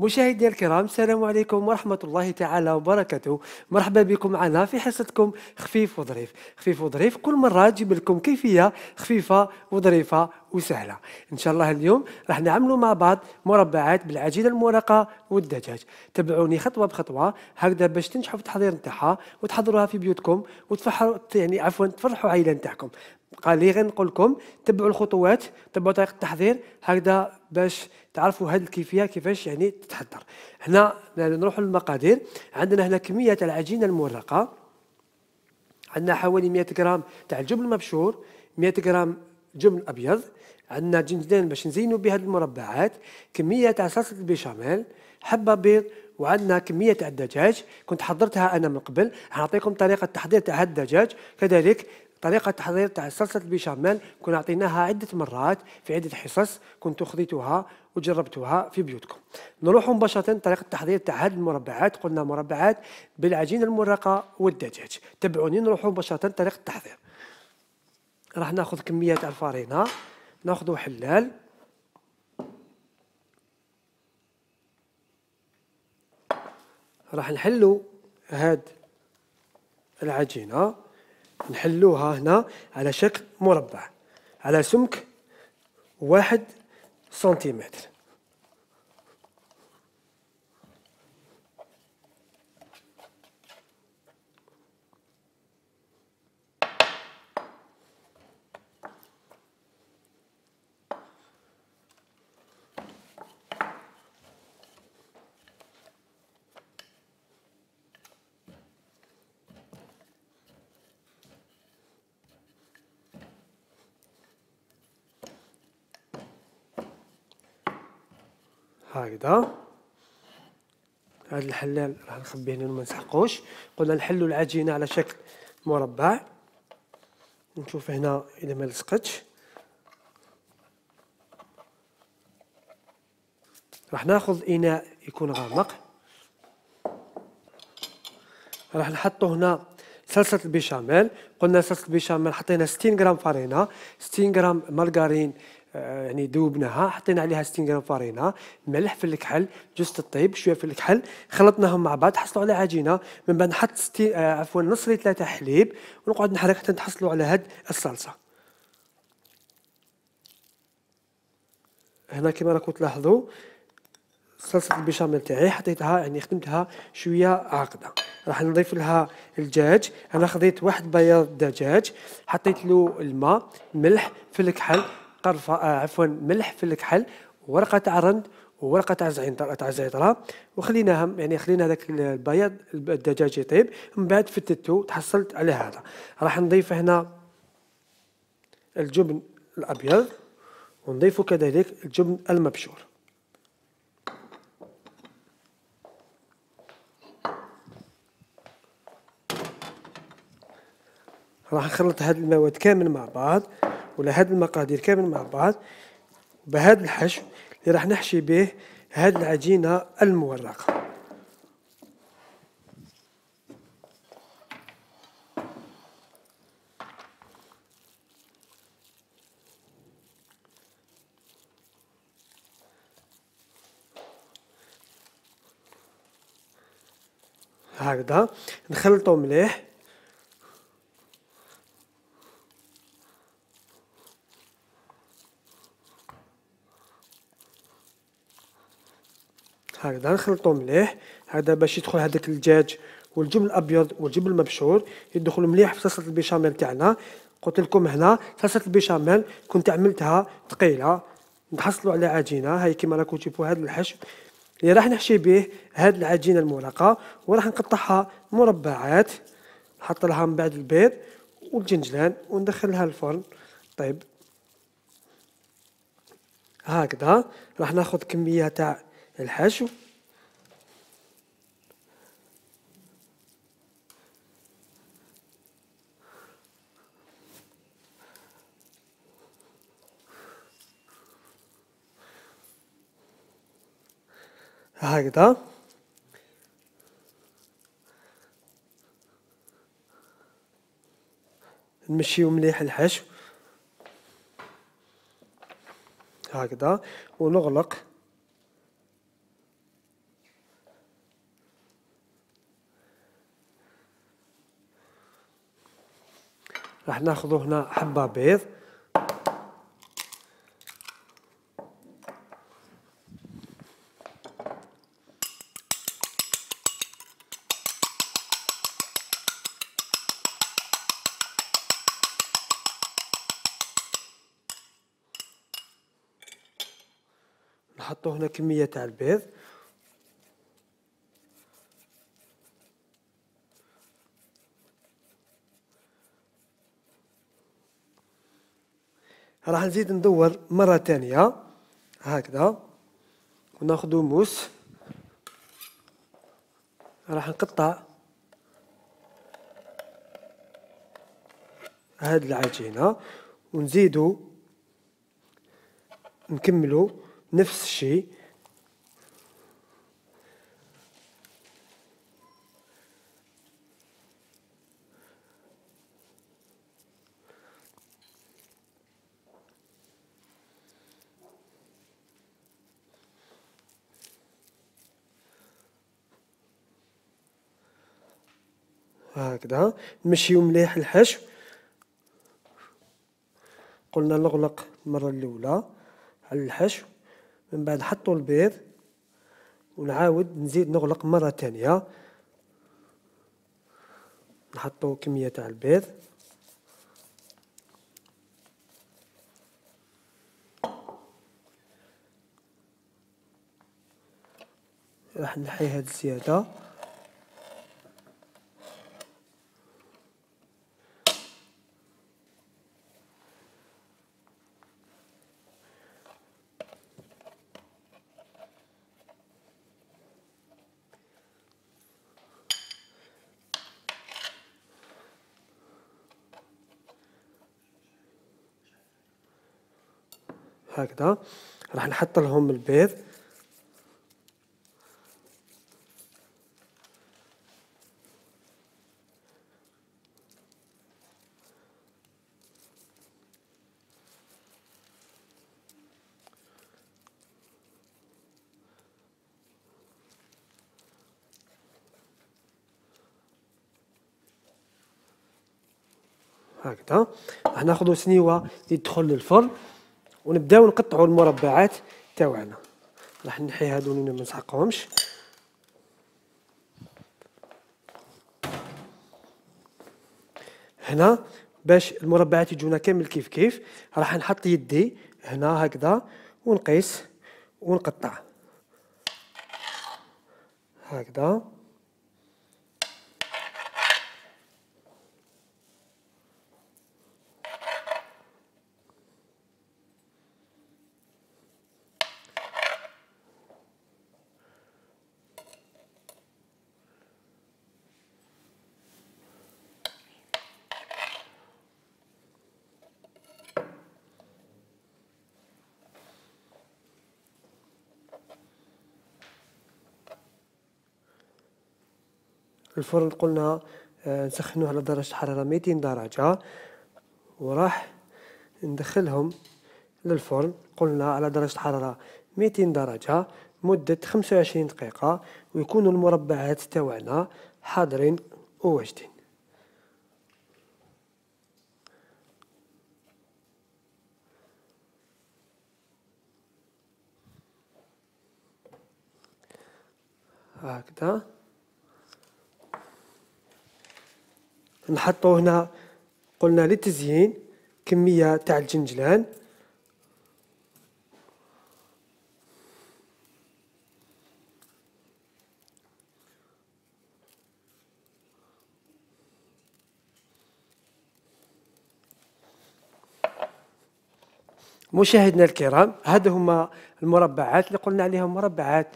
مشاهدينا الكرام، السلام عليكم ورحمة الله تعالى وبركاته. مرحبا بكم معنا في حصتكم خفيف وظريف. خفيف وظريف كل مرة تجيب لكم كيفية خفيفة وظريفة وسهلة. إن شاء الله اليوم راح نعملوا مع بعض مربعات بالعجينة المورقة والدجاج. تابعوني خطوة بخطوة هكذا باش تنجحوا في التحضير نتاعها وتحضروها في بيوتكم وتفرحوا تفرحوا عائلة نتاعكم. قال لي غير نقول لكم تبعوا الخطوات، تبعوا طريقة التحضير هكذا باش تعرفوا هذه الكيفية كيفاش تتحضر. هنا نروح للمقادير. عندنا هنا كمية العجينة المورقة، عندنا حوالي 100 غرام تاع الجبن المبشور، 100 غرام جبن أبيض، عندنا جنجلان باش نزينوا بها المربعات، كمية تاع صلصة البيشاميل، حبة بيض، وعندنا كمية تاع الدجاج كنت حضرتها أنا من قبل. حنعطيكم طريقة تحضير تاع هذا الدجاج، كذلك طريقة تحضير تاع صلصة البيشاميل كنا عطيناها عدة مرات في عدة حصص، كنتوا خذيتوها وجربتوها في بيوتكم. نروح مباشرة طريقة التحضير تاع هذه المربعات. قلنا مربعات بالعجينة المورقة والدجاج. تبعوني نروح مباشرة طريقة التحضير. راح ناخذ كمية تاع الفارينة، ناخذ حلال، راح نحلو هاد العجينة، نحلوها هنا على شكل مربع على سمك 1 سنتيمتر. هكذا هذا الحلال راح نخبيه هنا ما نسحقوش. قلنا نحلوا العجينة على شكل مربع، نشوف هنا إذا ما لصقتش. راح ناخذ إناء يكون غامق، راح نحطوا هنا صلصة البيشاميل. قلنا صلصة البيشاميل حطينا 60 غرام فارينة، 60 غرام مارغرين ذوبناها، حطينا عليها 60 غرام فارينة، ملح، في الكحل، جوز الطيب، شويه في الكحل، خلطناهم مع بعض حصلوا على عجينه. من بعد نحط نص لتر تاع حليب ونقعد نحرك حتى نحصلوا على هاد الصلصه. هنا كما راكم تلاحظوا صلصه البيشاميل تاعي حطيتها خدمتها شويه عاقده. راح نضيف لها الدجاج. انا خذيت واحد بياض دجاج، حطيت له الماء، ملح، في الكحل، ملح في الكحل، ورقه تاع رند وورقه تاع زعتره، وخليناهم خلينا هذاك البياض الدجاج يطيب. من بعد فتتو تحصلت على هذا. راح نضيف هنا الجبن الابيض ونضيف كذلك الجبن المبشور. راح نخلط هاد المواد كامل مع بعض ولا هاد المقادير كامل مع بعض بهذا الحشو اللي راح نحشي به هاد العجينة المورقة. هكذا نخلطو مليح. هكذا نخلطو مليح هذا باش يدخل هذاك الدجاج والجبن الابيض والجبن المبشور يدخلوا مليح في صلصه البيشاميل تاعنا. قلت لكم هنا صلصه البيشاميل كنت عملتها ثقيله، نحصلوا على عجينه هاي كما راكم تشوفوا. هذا الحشو اللي راح نحشي به هذه العجينه المورقه وراح نقطعها مربعات، نحط لها من بعد البيض والجنجلان وندخلها الفرن. طيب هكذا راح ناخذ كميه تاع الحشو هكذا. نمشيو مليح الحشو هكذا ونغلق راح ناخذ هنا حبة بيض، نحطو هنا كمية تاع البيض، راح نزيد ندور مرة تانية هكذا، وناخدو موس، راح نقطع هاد العجينة ونزيدو نكملو نفس الشيء. هكذا نمشيو مليح الحشو. قلنا نغلق المرة الأولى على الحشو، من بعد نحطو البيض ونعاود نزيد نغلق مرة تانية، نحطو كمية تاع البيض، راح نحي هاد الزيادة، هكذا راح نحط لهم البيض، هكذا راح ناخذ سنيوة يدخل للفرن ونبداو نقطعوا المربعات تاعنا. راح نحي هادو اللي ما نسحقهمش. هنا باش المربعات يجونا كامل كيف كيف راح نحط يدي هنا هكذا ونقيس ونقطع هكذا. الفرن قلنا نسخنوه على درجة حرارة 200 درجة، وراح ندخلهم للفرن قلنا على درجة حرارة 200 درجة مدة 25 دقيقة، ويكونوا المربعات تاوعنا حاضرين وواجدين. هكذا نحطو هنا قلنا للتزيين كمية تاع الجنجلان، مشاهدينا الكرام هذا هما المربعات اللي قلنا عليهم مربعات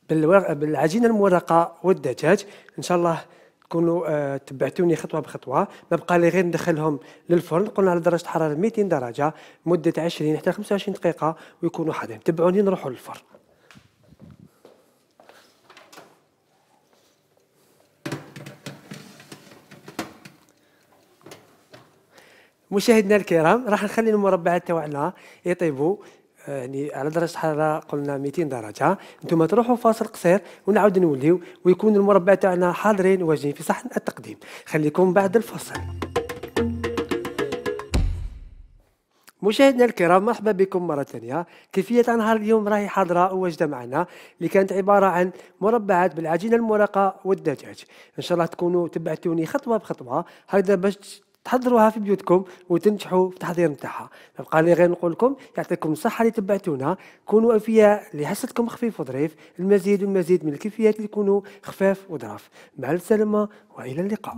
بالعجينة المورقة والدجاج. إن شاء الله تكونوا تبعتوني خطوة بخطوة. ما بقى لي غير ندخلهم للفرن قلنا على درجة حرارة 200 درجة مدة 20 حتى 25 دقيقة ويكونوا حاضرين. تبعوني نروحوا للفرن. مشاهدينا الكرام راح نخلي المربعات تاعنا يطيبوا يعني على درجة حرارة قلنا 200 درجة. انتم تروحوا فاصل قصير ونعاود نوليو ويكون المربع تاعنا حاضرين واجدين في صحن التقديم. خليكم بعد الفاصل. مشاهدينا الكرام، مرحبا بكم مرة ثانية. كيفية نهار اليوم راهي حاضرة وواجدة معنا، اللي كانت عبارة عن مربعات بالعجينة المرقة والدجاج. إن شاء الله تكونوا تبعتوني خطوة بخطوة هكذا باش تحضروها في بيوتكم وتنجحوا في التحضير نتاعها. بقى لي غير نقول لكم يعطيكم الصحة اللي تبعتونا، كونوا أوفياء لحصتكم خفيف وظريف، المزيد والمزيد من الكيفيات اللي يكونوا خفاف وظراف. مع السلامة وإلى اللقاء.